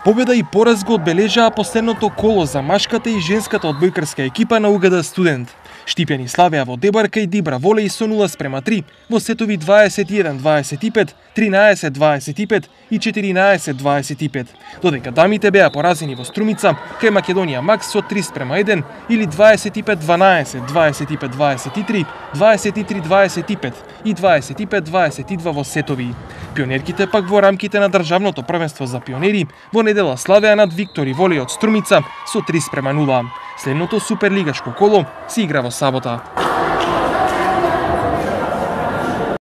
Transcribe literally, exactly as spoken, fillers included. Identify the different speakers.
Speaker 1: Победа и пораз го одбележаа последното коло за машката и женската одбојкарска екипа на УГД Студент. Штипјани славеа во Дебарка и Дибра волеј со нула спрема три, во сетови дваесет и еден дваесет и пет, тринаесет дваесет и пет и четиринаесет дваесет и пет. Додека дамите беа поразени во Струмица, кај Македонија Макс со три спрема еден или дваесет и пет дванаесет, дваесет и пет дваесет и три, дваесет и три дваесет и пет и дваесет и пет дваесет и два во сетови. Пионерките пак во рамките на државното првенство за пионери во недела славеа над Виктори волеј од Струмица со три спрема нула. Следното суперлигашко коло се игра во сабота.